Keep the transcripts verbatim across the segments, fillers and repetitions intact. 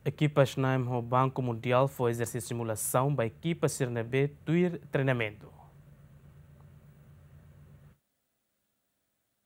Ekipa SNAM ho Banku Mundiál fó ezersísiu simulasaun ba ekipa sira ne'ebé tuir treinamentu.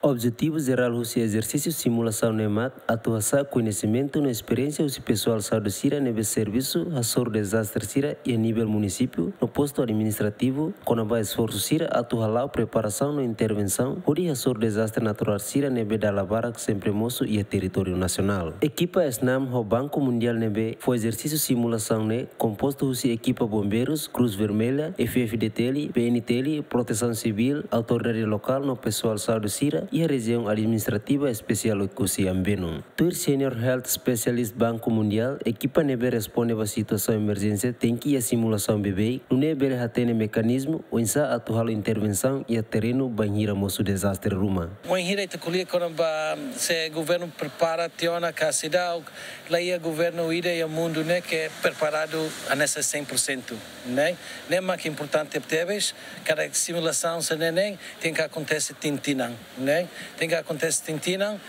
Objetivu jerál husi ezersísiu simulasaun ne'e mak atu hasa'e koñesimentu no esperiénsia husi pesoál saúde sira ne'ebé servisu hasoru dezastre sira iha nivel munisípiu no postu administrativu, kona-ba esforsu sira atu hala'o preparasaun no intervensaun hodi hasoru dezastre naturál sira ne'ebé dala barak sempre mosu iha territóriu nasionál. Ekipa SNAM ho Banku Mundiál ne'ebé fó ezersísiu simulasaun ne'e kompostu husi ekipa bombeirus, Cruz Vermelha, F F D T L, P N T L, Protesaun Sivíl, autoridade lokál no pesoál saúde sira iha Rejiaun Administrativa Espesiál Oekusi Ambeno. Tuir Senior Health Specialist Banku Mundiál, ekipa ne'ebé responde ba situasaun emerjénsia tenke iha simulasaun beibeik, nune'e bele hatene mekanizmu oinsá atu halo intervensaun iha terrenu bainhira mosu dezastre ruma. Wainhira ita ko'alia kona-ba se governu prepara tiha ona ka seidauk, la iha governu ida iha mundu ne'e ke preparadu hanesan cem por cento, ne'e? Ne'e mak importante tebes, kada simulasaun sira-ne'e tenke akontese tinan-tinan, ne'e? Tenke akontese tinan-tinan,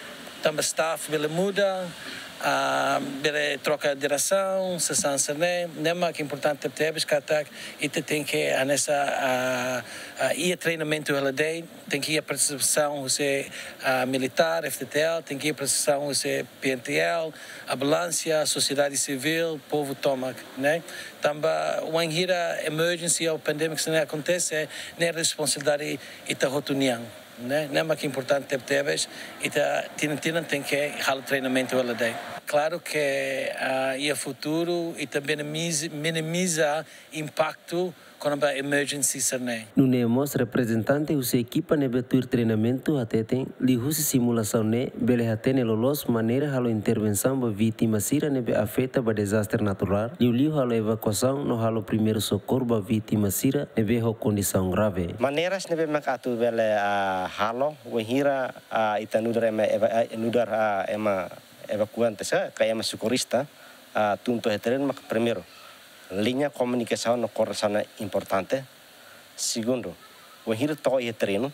tanba staff bele muda, ah, bele troka diresaun, sasán sira-ne'e, ne'e mak importante tebes katak ita tenke hanesan, ah, ah, iha treinamentu hela de'it, tenke iha partisipasaun husi, ah, militár, F T T L, tenke iha partisipasaun husi P N T L, ambulánsia, sosiedade sivíl, povu tomak, ne'e? Tanba wainhira emergency ou pandemic sira-ne'e akontese, ne'e responsabilidade ita hotu nian, ne'e? Ne'e mak importante tebes, ita tinan-tinan tenke halo treinamentu hela de'it. Klaru ke, ah, iha futuru, ita minimiza, minimiza impaktu kona-ba emergency sira-ne'e. Nune'e mós reprezentante husi ekipa ne'ebé tuir treinamentu hateten, liuhusi simulasaun ne'e bele hatene loloos maneira halo intervensaun ba vítima sira ne'ebé afeta ba dezastre naturál, liuliu halo evakuasaun no halo primeiru sokorru ba vítima sira ne'ebé ho kondisaun grave. Maneiras ne'ebé mak atu bele, ah, halo, wainhira, ah, ita nu'udar ema eva-, ah, nu'udar, ah, ema evakuante sá, ka ema sokorrista, ah, tun to'o iha terrenu mak primeiru, liña komunikasaun no koordenasaun ne'e importante. Segundu, wainhira to'o iha terrenu,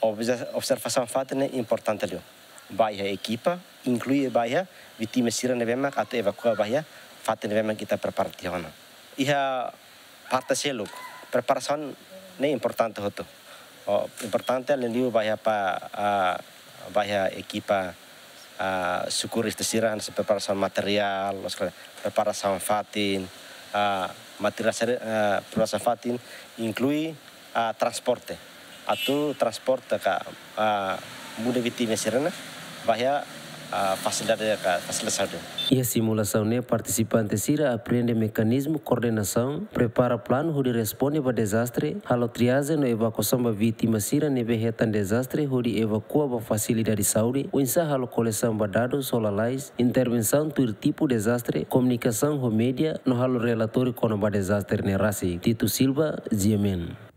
obje-, observasaun fatin ne'e importante liu. Ba iha ekipa, inklui ba iha vítima sira ne'ebé mak atu evakua ba iha fatin ne'ebé mak ita prepara tiha ona. Iha parte seluk, preparasaun ne'e importante hotu. Oh, importante liuliu ba iha pa, ah, ba iha ekipa, ah, sokorrista sira, hanesan preparasaun materiál, loos ka lae, preparasaun fatin, ah, materiál sira, ah, preparasaun fatin, inklui, ah, transporte. Atu transporte ka, ah, muda vítima sira-ne'e ba iha, ah, fasilidade ka fasilidade saúde. Iha simulasaun ne'e partisipante sira aprende mekanizmu koordenasaun, prepara planu hodi responde ba dezastre, halo triajen no evakuasaun ba vítima sira ne'ebé hetan dezastre hodi evakua ba fasilidade saúde, oinsá halo kolesaun ba dadus ho lalais, intervensaun tuir tipu dezastre, komunikasaun ho média, no halo relatóriu kona-ba dezastre ne'e rasik. Tito Silva, G M N.